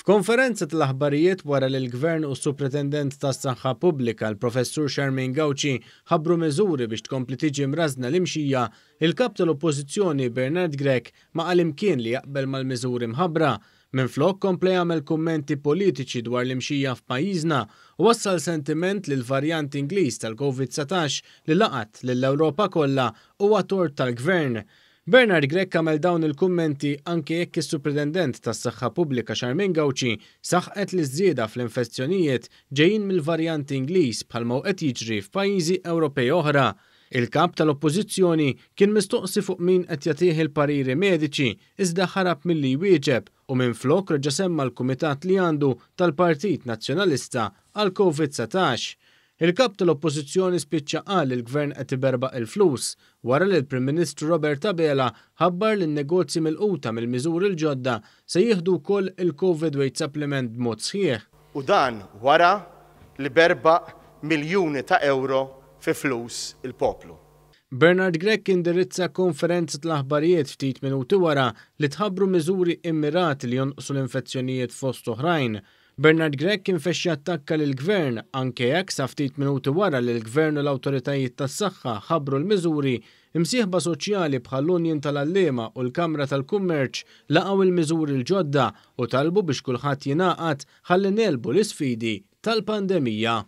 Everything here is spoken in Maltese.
F'konferenza tal-aħbarijiet wara li l-Gvern u s-Supretendent tas-Saħħa Pubblika, l-Professur Charmaine Gauci, ħabbru miżuri biex tkompli tiġi mrażżna l-imxija, il-Kap tal-Oppożizzjoni Bernard Grech ma qal imkien li jaqbel mal-miżuri mħabbra. Minflok kompla jagħmel kummenti politiċi dwar l-imxija f'pajjiżna u wassal sentiment li l-varjant Ingliż tal-Covid 19 li laqat lill-Ewropa kollha huwa tort tal-Gvern. Bernard Grech għamel dawn il-kummenti anke jekk is-Supretendent tas-Saħħa Pubblika Charmaine Gauci saħqet li ż-żieda fl-infezzjonijiet ġejjin mill-varjant Ingliż bħalma hu qed jiġri f'pajjiżi Ewropej oħra. Il-Kap tal-Oppożizzjoni kien mistoqsi fuq min qed jagħtih il-pariri mediċi iżda ħarab milli jwieġeb u minflok reġa' semma l-kumitat li għandu tal-Partit Nazzjonalista għall-Covid 19. Il-Kap tal-Oppożizzjoni spiċċa qal li l-Gvern qed iberbaq il-flus wara li l-Prim Ministru Robert Abela ħabbar li n-negozji milquta mill-miżuri l-ġodda se jieħdu wkoll il-Covid Wage Supplement b'mod sħiħ. U dan wara li berbaq miljuni ta' ewro fi flus il-poplu. Bernard Grech indirizza konferenza tal-aħbarijiet ftit minuti wara li tħabbru miżuri immirati li jonqsu l-infezzjonijiet fost oħrajn. Bernard Grech kien fex jattakka lill-Gvern anke jekk sa ftit minuti wara li l-Gvern u l-awtoritajiet tas-saħħa ħabbru l-miżuri, imsieħba soċjali bħall-Union tal-Għalliema u l-Kamra tal-Kummerċ laqgħu l-miżuri l-ġodda u talbu biex kulħadd jingħaqad ħalli negħlbu l-isfidi tal-pandemija.